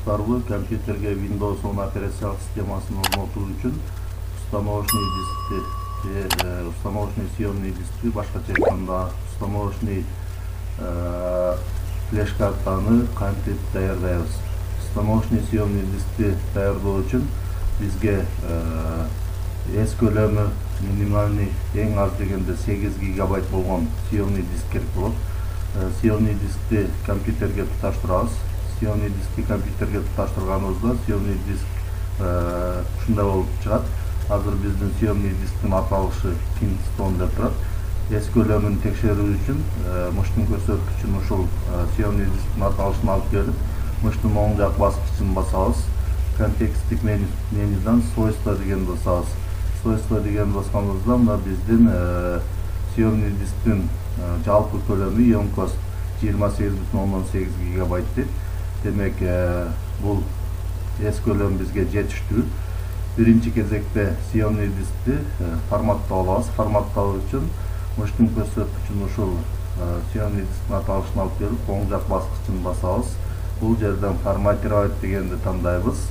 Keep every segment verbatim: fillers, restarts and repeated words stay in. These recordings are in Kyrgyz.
кыласыздарбы? Компьютерге Windows он операциялык системасын орнотуу үчүн установочный дискти же установочный съемный дискти, башкача айтканда установочный флеш картаны кантип даярдайбыз? Установочный съемный дискти даярдоо үчүн бизге эс көлөмү минимальный эң аз дегенде сегиз гигабайт болгон съемный диск керек болот. Съемный дискти компьютерге туташтырабыз. Съемный дискти компьютерге туташтырганыбызда съемный диск ушундай болуп чыгат. Азыр биздин съемный дисктин аталышы Kingston деп турат. Эс көлөмүн текшерүү үчүн мыштын көрсөткүчүн ушул съемный дисктин аталышын алып келип, мыштын оң жак баскычын басабыз. Контексттик менюдан свойства дегенди басабыз. Свойства дегенди басканыбызда мына биздин съемный дисктин жалпы көлөмү емкост жыйырма сегиз бүтүн ондон сегиз гигабайт дейт. Демек, бул эс көлөм бизге жетиштүү. Биринчи кезекте съемный дискти форматтап алабыз. Форматтоо үчүн мыштын көрсөткүчүн ушул съемный дисктин аталышын алып келип, оң жак баскычын басабыз. Бул жерден форматировать дегенди тандайбыз.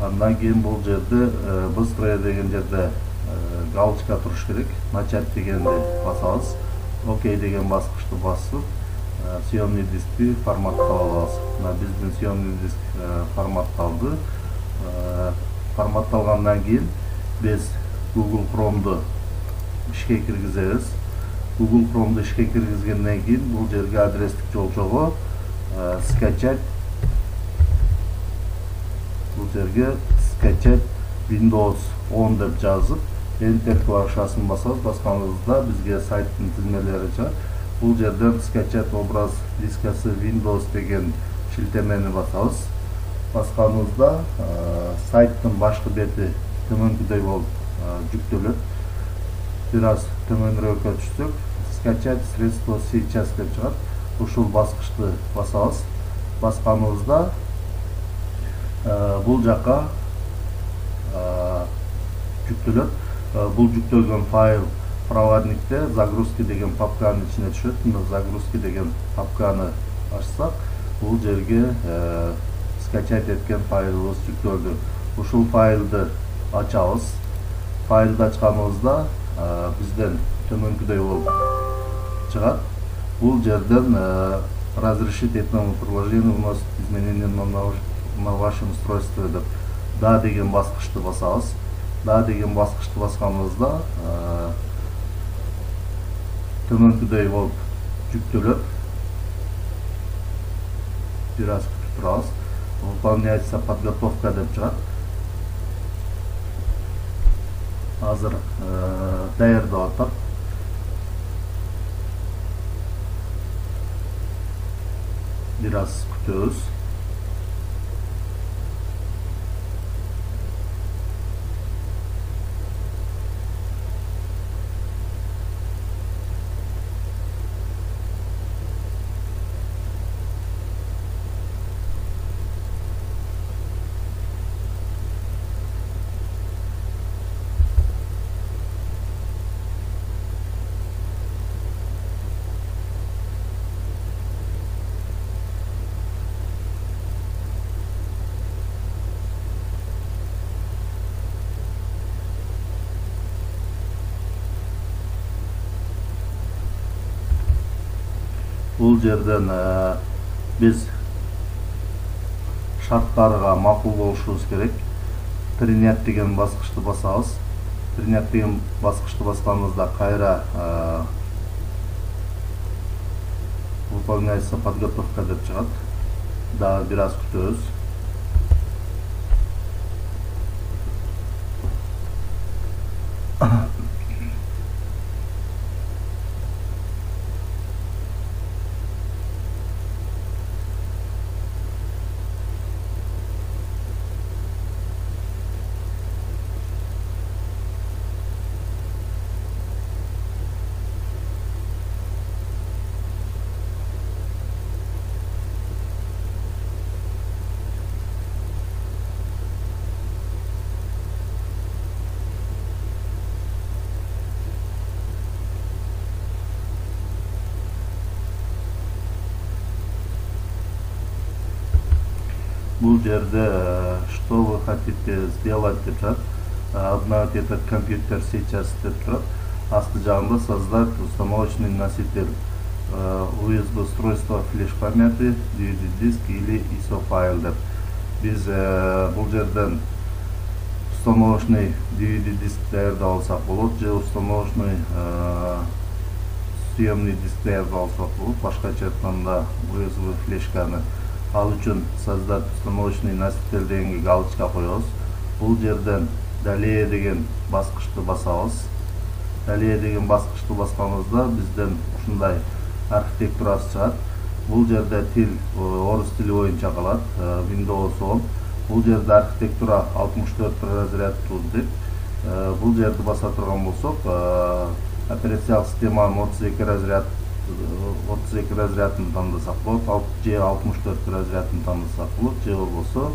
Андан кийин бул жерде быстрое деген жерде галочка туруш керек. Начать дегенди басабыз. Окей деген баскычты басып, съемный дискти форматтап алабыз. Мына биздин съемный диск форматталды. Форматталгандан кийин биз Google Chrome'ду ишке киргизебиз. Google Chrome'ду ишке киргизгенден кийин бул жерге адрестик жолчого скачать, бул жерге скачать Windows он деп жазып, Enter клавишасын басабыз. Басканыбызда бизге сайттын тизмелери чыгат. Бул жерден скачать образ дискасы Windows деген шилтемени басабыз. Басканыбызда сайттын башкы бети төмөнкүдөй болуп жүктөлөт. Бир аз төмөнүрөөккө түшсөк, скачать средство сейчас деп чыгат. Ушул баскычты басабыз. Басканыбызда бул жака жүктөлөт. Бул жүктөлгөн файл проводникте загрузки деген папканын ичине түшөт. Мына загрузки деген папканы ачсак, бул жерге скачать эткен файлыбыз жүктөлдү. Ушул файлды ачабыз. Файлды ачканыбызда бизден төмөнкүдөй болуп чыгат. Бул жерден разрешить этному приложению вносит изменения на вашем устройстве деп да деген баскычты басабыз. Да деген баскычты басканыбызда төмөнкүдөй болуп жүктөлөт. Бир аз күтүп турабыз. Выполняется подготовка деп чыгат. Азыр даярдап атат. Бир аз күтөбүз. Бул жерден биз шарттарга макул болушубуз керек. Принять деген баскычты басабыз. Принять деген баскычты басканыбызда кайра выполняется подготовка деп чыгат. Да, бир аз күтөбүз. бул жерде что вы хотите сделать деп турат. Обновить этот компьютер сейчас деп турат. Асты жагында создать установочный носитель ю эс би устройство флеш памяти, ди ви ди диск или ай эс о файл деп. Биз бул жерден установочный ди ви ди диск даярдап алсак болот, же установочный съемный диск даярдап алсак болот. Башкача айтканда ю эс би флешканы ал үчүн создать установочный носитель дегенге галочка коебуз. Бул жерден далее деген баскычты басабыз. Далее деген баскычты басканыбызда бизден ушундай архитектурасы чыгат. Бул жерде тил орус тили боюнча калат, Windows он. Бул жерде архитектура алтымыш төрт разрядтуу деп. Бул жерди баса турган болсок, операциялык системанын отуз эки разряд отуз эки разрядын тандасак болот, же алтымыш төрт разрядын тандасак болот, же болбосо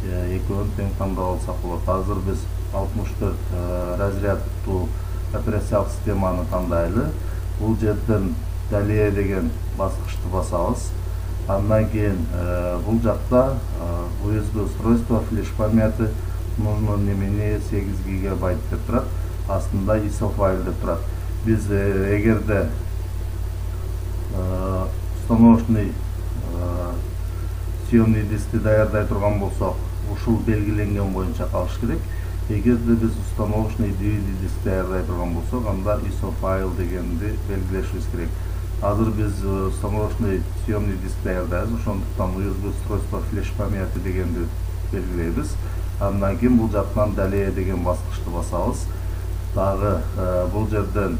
экөөнүн тең тандап алсак болот. Азыр биз алтымыш төрт разрядтуу операциялык системаны тандайлы. Бул жерден далее деген баскычты басабыз. Андан кийин бул жакта ю эс би устройство флеш памяти нужно не менее сегиз гигабайт деп турат. Астында ай эс о файл деп турат. Биз эгерде установочный съемный дискти даярдай турган болсок, ушул белгиленген боюнча калыш керек. Эгерде биз установочный ди ви ди диск даярдай турган болсок, анда ай эс о файл дегенди белгилешибиз керек. Азыр биз установочный съемный диск даярдайбыз, ошондуктан ю эс би устройство флеш памяти дегенди белгилейбиз. Андан кийин бул жактан далее деген баскычты басабыз. Дагы бул жерден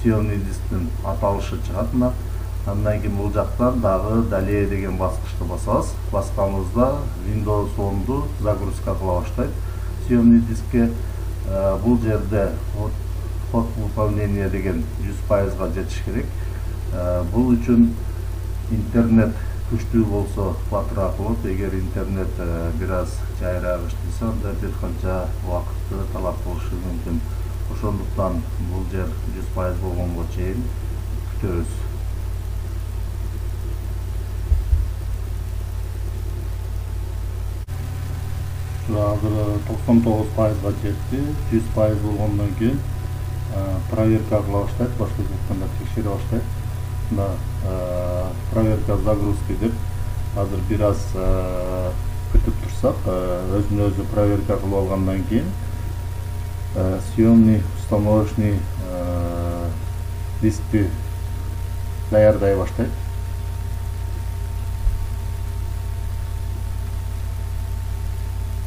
съемный дисктин аталышы чыгат мына. Андан кийин бул жактан дагы далее деген баскычты басабыз. Басканыбызда Windows онду загрузка кыла баштайт съемный дискке. Бул жерде код выполнения деген жүз пайызга жетиш керек. Бул үчүн интернет күчтүү болсо батыраак болот. Эгер интернет бир аз жайраак иштесе, анда бир канча убакытты талап кылышы мүмкүн. Ошондуктан бул жер жүз пайыз болгонго чейин күтөбүз. Азыр токсон тогуз пайызга жетти. жүз пайыз болгондон кийин проверка кыла баштайт, башкача айтканда текшере баштайт. Мына проверка загрузки деп азыр бир аз күтүп турсак, өзүнө өзү проверка кылып алгандан кийин съемный установочный дискти даярдай баштайт.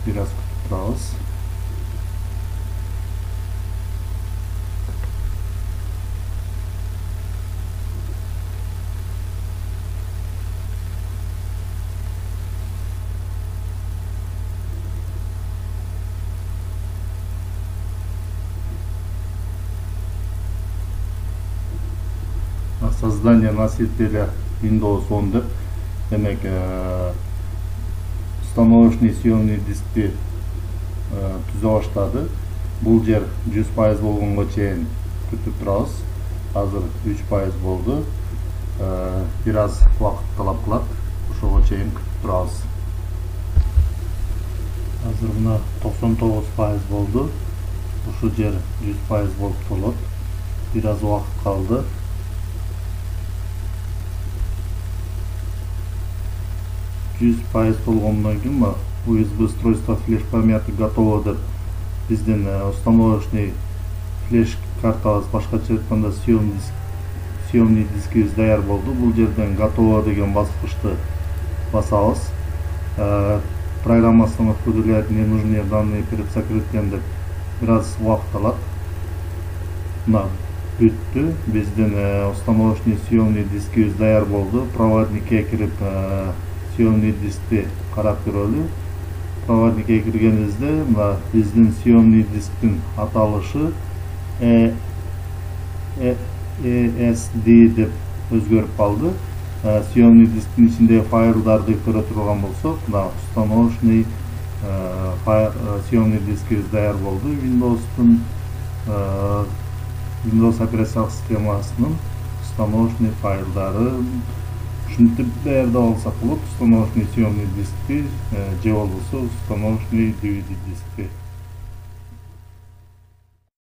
Бир аз күтүп турабыз. Создание носителя Windows он деп, демек установочный съемный дискти түзө баштады. Бул жер жүз пайыз болгонго чейин күтүп турабыз. Азыр үч пайыз болду. Бир аз убакыт талап кылат. Ошого чейин күтүп турабыз. Азыр мына токсон тогуз пайыз болду. Ушул жер жүз пайыз болуп толот. Бир аз убакыт калды. жүз пайыз болгондон кийин ю эс би устройство флеш памяти готово деп биздин установочный флеш картабыз, башкача айтканда съемный дискибиз даяр болду. Бул жерден готово деген баскычты басабыз. Программа самоопределяет ненужные данные перед сокрытием деп бир аз убакыт алат. Мына бүттү. Биздин установочный съемный дискибиз даяр болду. Проводникке кирип съемный дискти карап көрөлү. Проводникке киргенибизде мына биздин съемный дисктин аталышы и эс ди деп өзгөрүп калды. Съемный дисктин ичиндеги файлдарды көрө турган болсок, мына установочный съемный дискибиз даяр болду. Windows'тун Windows операциялык системасынын установочный файлдары ушинтип даярдап алсак болот. Установочный съемный дискти же болбосо установочный ди ви ди дискти.